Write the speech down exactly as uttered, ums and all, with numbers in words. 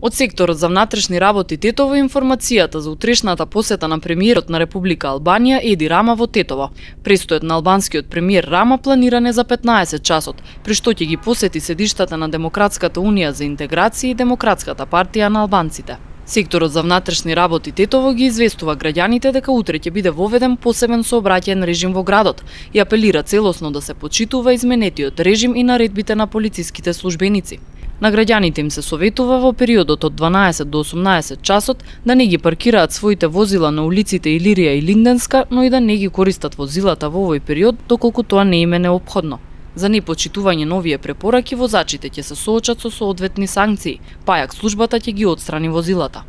Од секторот за внатрешни работи Тетово информацијата за утрешната посета на премиерот на Република Албанија Еди Рама во Тетово. Престојот на албанскиот премиер Рама планиран е за петнаесет часот, при што ќе ги посети седиштата на Демократската унија за интеграција и Демократската партија на албанците. Секторот за внатрешни работи Тетово ги известува граѓаните дека утре ќе биде воведен посебен сообраќаен режим во градот и апелира целосно да се почитува изменетиот режим и наредбите на полициските службеници. На граѓаните им се советува во периодот од дванаесет до осумнаесет часот да не ги паркираат своите возила на улиците Илирија и Линденска, но и да не ги користат возилата во овој период доколку тоа не им е неопходно. За непочитување на овие препораки возачите ќе се соочат со соодветни санкции, па јак службата ќе ги отстрани возилата.